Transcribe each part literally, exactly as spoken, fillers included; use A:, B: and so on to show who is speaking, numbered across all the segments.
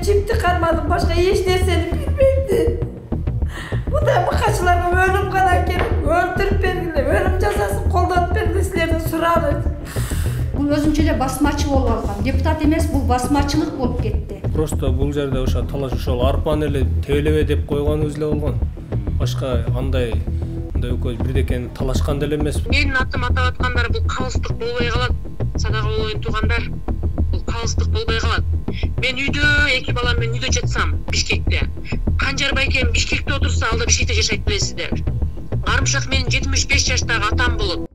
A: чипти кармадым, башка эч нерсени билбейм. Мындай мыкачыларга өлүм гана керек. Өлтүрүп бергиле, өлүм жазасын колдонуп бергиле силердин сурагыңыз.
B: Бул өзүнчө эле басмачы болуп алган. Депутат эмес, бул басмачылык болуп кетти.
C: Просто бул жерде ошо талаш ошол арпаны эле тебелебе деп койгонубуз эле болгон. Башка андай мындай экөөбүз бирдекени талашкан деле эмес.
D: Менин атым атап аткандар бул калыстык болбой калат. Садага болоюн туугандар. Бул калыстык болбой калат. Мен үйдө эки балам менен үйдө жатсам Бишкекте. Канжар байкем Бишкекте отурса, ал да Бишкекте жашайт билесиздер. Карымшак менин жетимиш беш жаштагы атам болот.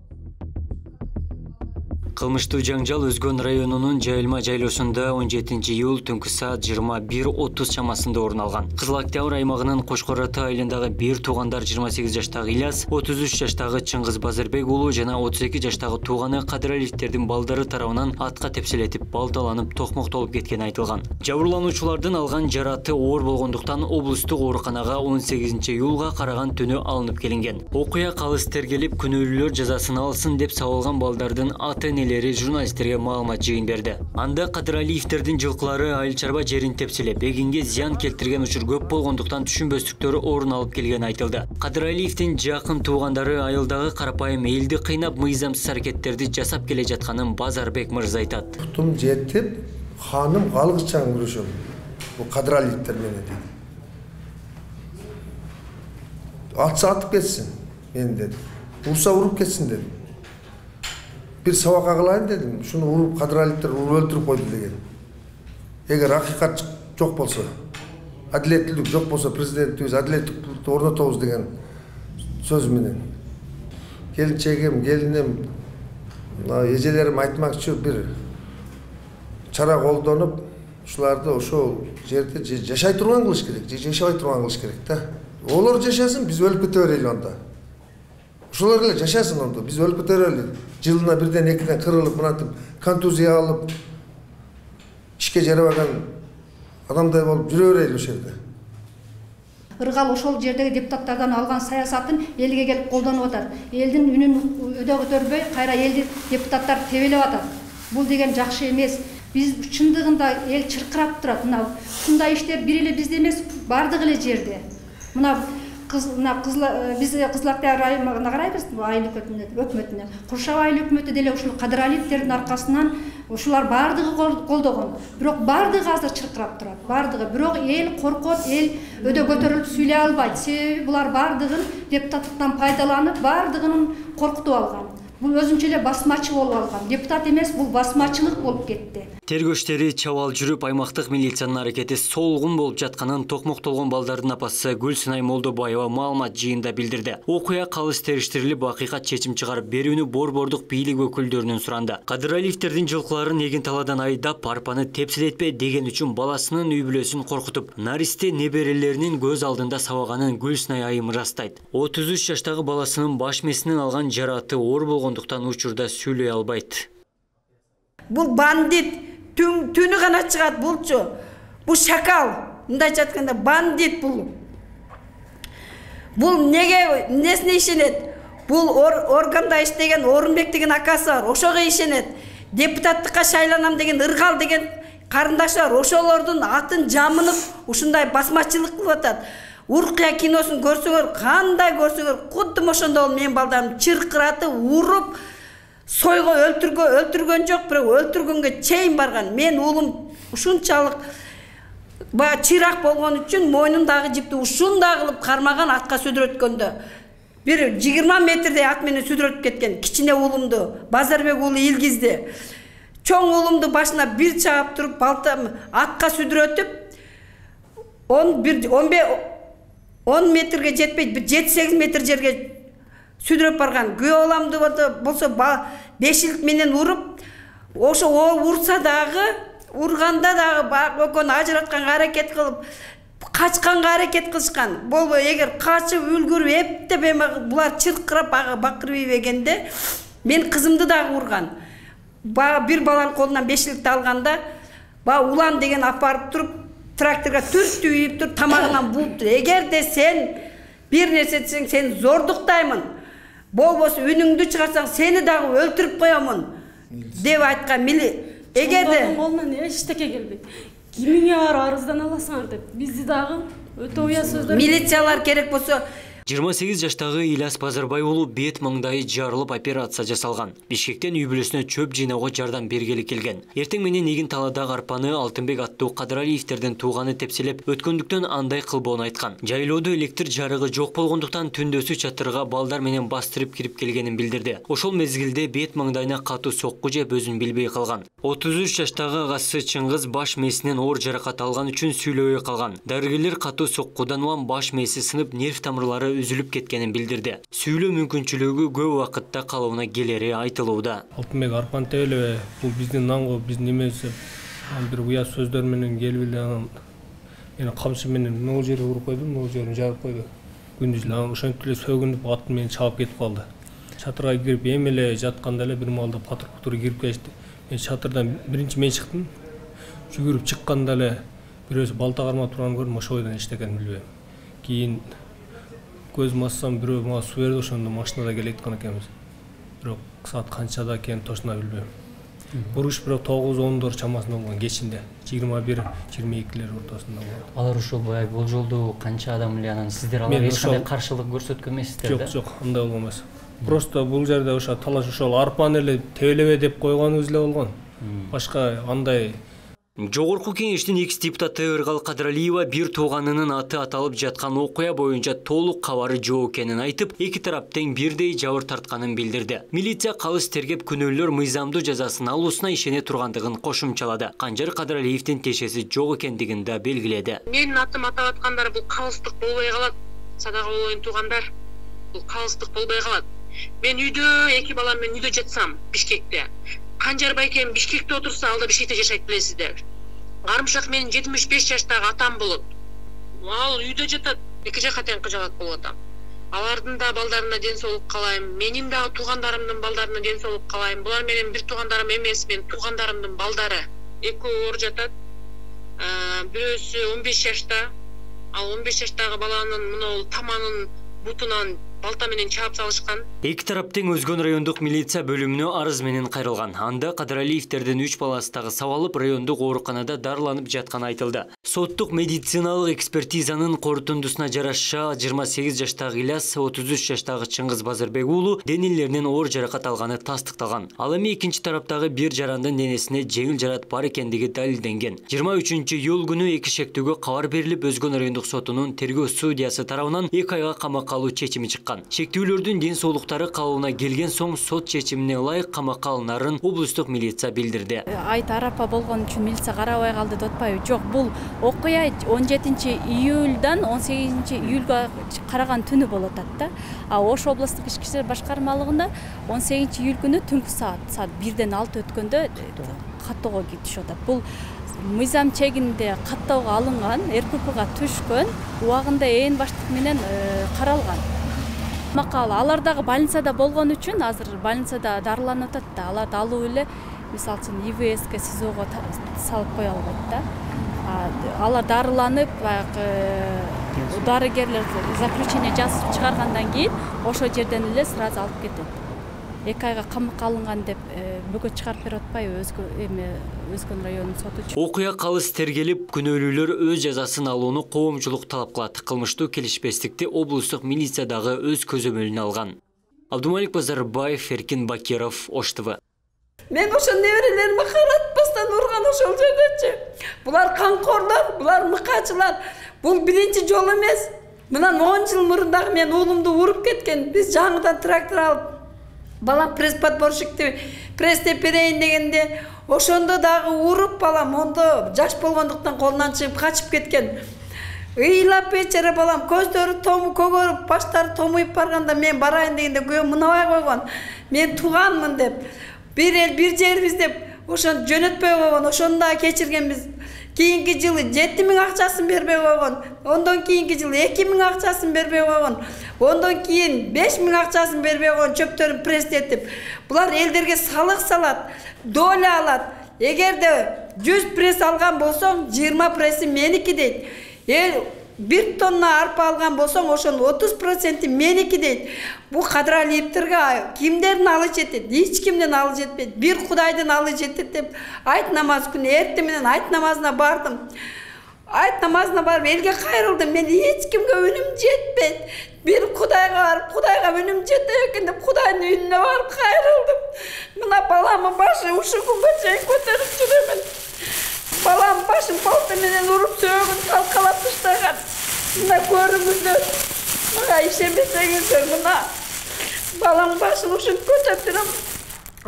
E: Кылмыштуу жаңжал Өзгөн районунун Жайылма жайлоосунда он жетинчи июль түнкү саат жыйырма бир отуз чамасында орун алган. Кызыл Октябрь аймагынын Кошкор Ата айылындагы бир туугандар жыйырма сегиз жаштагы Ильяс, отуз үч жаштагы Чыңгыз Базарбек уулу жана отуз эки жаштагы тууганы Кадыралиевтердин балдары тарабынан атка тепселетип, балталанып, токмоктолуп кеткени айтылган. Жабырлануучулардын алган жараты оор болгондуктан облустук ооруканага он сегизинчи июлга караган түнү алынып келинген. Окуя калыс тергелип, күнөөлүүлөр жазасын алсын деп сабалган балдардын ата-энелери журналисттерге маалымат жыйын берди. Анда Кадыралиевтердин жылкылары айыл чарба жерин тепселеп, эгинге зыян келтирген учур көп болгондуктан түшүнбөстүктөр орун алып келгени айтылды. Кадыралиевдин жакын туугандары айылдагы карапайым элди кыйнап, мыйзамсыз аракеттерди жасап келе жатканын Базарбек мырза айтат.
F: Тутум жетип, ханым алгычан күрөшөм. Бул Кадыралиевтер менен дейт. Атса атып кетсин, мен дедим. Урса уруп кетсин дедим. Bir сабакка кылайын дедим. Шуну уруп Кадыралиевтер уруп өлтүрүп койду деген. Эгер акыйкат жок болсо, адилеттүүлүк жок болсо, президентибиз адилеттүүлүктү орнотобуз деген сөз менен. Келинчегим, келиним, эжелерим айтмакчы бир чара колдонуп, ушуларды ошол жерде жашай турган кылыш керек, же жашабай турган кылыш керек да. Олар жашасын, биз өлүп кете берели анда. Ошолор эле жашасын онда, биз өлүп кете берели. Жылына бирден экиден кырылып, мынатып, контузия алып, ишке жарабаган адамдай болуп жүрө берели ошол жерде.
B: Ыргал ошол жердеги депутаттардан алган саясатын элге келип колдонуп атат. Элдин үнүн өдө көтөрбөй, кайра элди депутаттар тебелеп атат. Бул деген жакшы эмес. Биз чындыгында эл чыркырап турат. Мына ушундай иштер бир эле бизде эмес, бардык эле жерде. Мына Кыз, биз Кызыл Октябрь аймагына карайбыз, айыл өкмөтүнө. Куршабай айыл өкмөтү деле ушул Кадыралиевтердин аркасынан ушулар бардыгы колдогон. Бирок бардыгы азыр чыркырап турат. Бардыгы. Бирок эл коркот, эл өдө көтөрүлүп сүйлөй албайт. Себеби булар бардыгын депутаттыктан пайдаланып, бардыгын коркутуп алган. Бул өзүнчө эле басмачы болуп алган. Депутат эмес, бул басмачылык болуп кетти.
E: Тергөө иштери чабал жүрүп, аймактык милициянын аракети солгун болуп жатканын токмоктолгон балдардын апасы Гүлсынай Молдобаева маалымат жыйында билдирди. Окуя калыс териштирилип, акыйкат чечим чыгарып берүүнү борбордук бийлик өкүлдөрүнөн суранды. Кадыралиевтердин жылкыларын эгин таладан айдап, арпаны тепселетпе деген үчүн баласынын үй бүлөсүн коркутуп, наристе неберелеринин көз алдында сабаганын Гүлсынай айым ырастайт. отуз үч жаштагы баласынын баш мээсинен алган жараты оор болгондуктан учурда сүйлөй албайт.
A: Бул бандит түнү гана чыгат булчу. Бул шакал. Мындай жатканда бандит бул. Бул неге несине ишенет? Бул органда иштеген Орунбек деген акасы бар. Ошого ишенет. Депутаттыкка шайланам деген Ыргал деген карындаш бар. Ошолордун атын жамынып ушундай басмачылык кылып атат. Уркуя киносун көрсөңөр, кандай көрсөңөр, кудум ошондо менин балдарым чыркыратып, уруп, сойго өлтүргө өлтүргөн жок, бирок өлтүргөнгө чейин барган. Мен уулум ушунчалык ба чырак болгон үчүн мойнундагы жипти ушундай кылып кармаган, атка сүдүрөткөндө. Бир жыйырма метрдей ат менен сүдүрөтүп кеткен. Кичине уулумду, Базарбек уулу Илгизди. Чоң уулумду башына бир чаап туруп, балта атка сүдүрөтүп, он метрге жетпейт, бир жети сегиз метр жерге сүдүрөп барган. Күйөө баламды болсо бешилик менен уруп, ошо урса дагы, урганда дагы экөөнү ажыратканга аракет кылып, качканга аракет кылышкан. Болбой эгер качып үлгүрүп эптеп эме булар чыркырап бакырып ийбегенде мен кызымды дагы урган. Бир баланын колунан бешиликти алганда, ба улан деген апарып туруп тракторга түртүп ийип туруп тамагынан булуптур. Эгерде сен бир нерсе десең, сен зордуктаймын. Болбосо үнүңдү чыгарсаң, сени дагы өлтүрүп коёмун деп айткан. Эгерде
G: колунан эчтеке келбейт. кимиңе барып арыздана аласыңар деп бизди дагы өтө уя сөздөр.
A: Милициялар керек болсо
E: жыйырма сегиз жаштагы Ильяс Базарбай уулу бет маңдайы жарылып операция жасалган. Бишкектен үй бүлөсүнө чөп жыйнауга жардам бергели келген. Эртең менен эгин таладагы арпаны Алтынбек аттуу Кадыралиевтердин тууганы тепселеп өткөндүктөн андай кылбоон айткан. Жайлоодо электр жарыгы жок болгондуктан түндөсү чатырга балдар менен бастырып кирип келгенин билдирди. Ошол мезгилде бет маңдайына катуу сокку жеп өзүн билбей калган. отуз үч жаштагы агасы Чыңгыз баш мээсинен оор жаракат алган үчүн сүйлөбөй калган. Дарыгерлер катуу соккудан улам баш мээси сынып нерв тамырлары үзүлүп кеткенин билдирди. Сүйлөө мүмкүнчүлүгү көп убакытта калыбына келери айтылууда.
C: Алтынбек арпан тебелебе, бул биздин нанго биздин немеси бир уя сөздөр менен келип эле анан мени камчы менен могу жерге уруп койду, могу жерин жарып койду. Күндүз эле анан ошентип эле сөгүнүп ат менен чалып кетип калды. Чатырга кирип эми эле жатканда эле бир маалда патруль кирип келишти. Мен чатырдан биринчи мен чыктым. Жүгүрүп чыкканда эле бирөөсү балта кармап турганын көрдүм, ошол бойдон эчтекени билбейм. Кийин көзүмө ачсам бирөө мага суу берди, ошондо машинада келе аткан экенбиз. Бирок саат канчада экенин точно билбейм. Буруш бирок тогуз ондор чамасында болгон кечинде, жыйырма бир жыйырма экилер ортосунда болгон.
H: Алар ошол баягы болжолдуу канча адам эле анан сиздер аларга эч кандай каршылык көрсөткөн эмессиздер да?
C: Жок, жок, андай болгон эмес. Просто бул жерде ошо талаш ошол арпаны эле тебелебе деп койгонубуз эле болгон. Башка андай.
E: Жогорку кеңештин экс депутаты Ыргал Кадыралиева бир тууганынын аты аталып жаткан окуя боюнча толук кабары жок экенин айтып, эки тарап тең бирдей жабыр тартканын билдирди. Милиция калыс тергеп күнөөлөр мыйзамдуу жазасын алуусуна ишене тургандыгын кошумчалады. Канжар Кадыралиевдин тешеси жок экендигин да белгиледи.
D: Менин атым атап аткандар бул калыстык болбой калат. Садага болоюн туугандар. Бул калыстык болбой калат. Мен үйдө эки балам менен үйдө жатсам Бишкекте. Канжар байкем Бишкекте отурса, алда Бишкекте жашайт билесиздер. Карымшак менин жетимиш беш жаштагы атам болот. Ал үйдө жатат, эки жакка тең кыжалат болуп атам. Алардын да балдарына ден соолук каалайм. Менин да туугандарымдын балдарына ден соолук каалайм. Булар менин бир туугандарым эмес, мен туугандарымдын балдары. Экөө оор жатат. Бирөөсү он беш жашта. Ал он беш жаштагы баланын мына таманын бутунан балта менен чаап салышкан.
E: Эки тарап тең Өзгөн райондук милиция бөлүмүнө арыз менен кайрылган. Анда Кадыралиевтердин үч баласы дагы сабалып, райондук ооруканада дарыланып жатканы айтылды. Соттук медициналык экспертизанын корутундусуна жараша жыйырма сегиз жаштагы Ильяс, отуз үч жаштагы Чыңгыз Базарбек уулу денелеринен оор жаракат алганы тастыкталган. Ал эми экинчи тараптагы бир жарандын денесине жеңил жарат бар экендиги далилденген. жыйырма үчүнчү июль күнү эки шектүүгө кабар берилип, Өзгөн райондук сотунун тергөө судьясы тарабынан эки айга камакка алуу чечими чыккан. Шектүүлөрдүн ден соолуктары калыбына келген соң сот чечимине ылайык камакка алынарын облустук милиция билдирди.
I: Айт арапа болгон үчүн милиция карабай калды деп атпайбы? Жок, бул окуя он жетинчи июльдан он сегизинчи июльга караган түнү болуп атат да. А Ош облустук ички иштер башкармалыгында он сегизинчи июль күнү түнкү саат саат бирден алты өткөндө каттоого түшүп атат. Бул мыйзам чегинде каттоого алынган, эр ка пга түшкөн, убагында ээн баштык менен каралган. Макал алар дагы больницада болгон үчүн азыр больницада дарыланып атат да. Аларды алуу эле мисалы үчүн и вэ эске СИЗОго салып кое албайт да. Алар дарыланып, баягы дарыгерлер заключение жазып чыгаргандан кийин ошол жерден эле сразу алып кетет. эки айга камакка алынган деп бөгөт чыгарып берип атпайбы эми Өзгөн районунун соту?
E: Окуя калыс тергелип, күнөөлүүлөр өз жазасын алууну коомчулук талап кылат. Кылмыштуу келишпестикти облустук милиция дагы өз көзөмөлүнө алган. Абдумалик Базарбаев, Эркин Бакиров, Ош Т В.
A: Мен ошо неберелериме каратпастан урган ошол жердечи. Булар камкорлор, булар мыкачылар. Бул биринчи жол эмес. Мынан он жыл мурун дагы мен уулумду уруп кеткен. Биз жаңыдан трактор алып балам пресс-подборщикти пресстеп берейин дегенде ошондо дагы уруп балам ондо жаш болгондуктан колунан чыгып качып кеткен. Ыйлап бечара балам көздөрү тому көгөрүп, баштары томуйуп барганда мен барайын дегенде күйөөм мынабай койгон. Мен тууганмын деп, бир эл бир жербиз деп ошону жөнөтпөй койгон. Ошону дагы кечиргенбиз. Кийинки жылы жети миң акчасын бербей койгон. Ондон кийинки жылы эки миң акчасын бербей койгон. Ондон кийин беш миң акчасын бербей койгон, чөптөрүн пресстетип. Булар элдерге салык салат, доля алат. Эгерде жүз пресс алган болсоң, жыйырма пресси меники дейт. Эл бир тонна арпа алган болсоң, ошонун отуз проценти меники дейт. Бул Кадралиевтерге кимдердин алы жетет? Эч кимден алы жетпейт. Бир Кудайдын алы жетет деп айт намаз күнү эртең менен айт намазына бардым. Айт намазына барып элге кайрылдым. Мен эч кимге үнүм жетпейт. Бир Кудайга барып, Кудайга үнүм жетет экен деп Кудайдын үйүнө барып кайрылдым. Мына баламын башы ушу күнгө чейин көтөрүп жүрөмүн. Балам башын палта менен уруп сөөгүн талкалап таштаган. Мына көрүңүздөр. Мага ишенбесеңиздер, мына балам башын ушинтип көтөрүп жүрөм.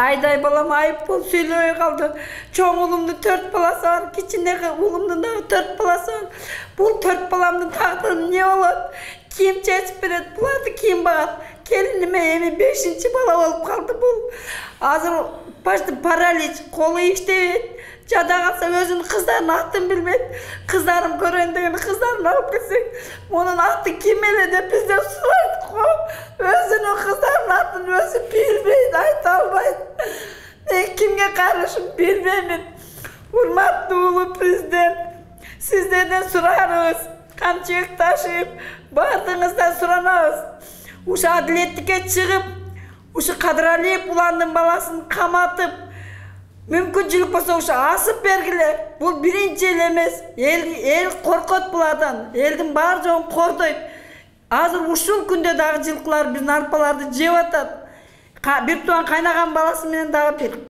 A: Айдай балам айып болуп сүйлөбөй калды. Чоң улумдун төрт баласы бар, кичинеги улумдун дагы төрт баласы бар. Бул төрт баламдын тагдыры эмне болот? Ким чечип берет? Буларды ким багат? Келиниме эми бешинчи бала болуп калды бул. Азыр башты паралич, колу иштебейт. Жада калса өзүнүн кыздарынын атын билбейт. Кыздарым көрөйүн деген кыздарын алып келсек, мунун аты ким эле деп бизден сурайт го. Өзүнүн кыздарынын атын өзү билбейт, айта албайт. Мен кимге карышым билбеймин. Урматтуу улуу президент, сиздерден сурарыбыз, камчыбек ташып, баардыгыңыздан суранабыз. Ушу адилеттикке чыгып, ушу Кадралиев уландын баласын каматып, мүмкүнчүлүк болсо ушу асып бергиле. Бул биринчи эле эмес. Эл эл коркот булардан. Элдин баары жогун кордойт. Азыр ушул күндө дагы жылкылар биздин арпаларды жеп атат. Бир тууган кайнаган баласы менен дагы бир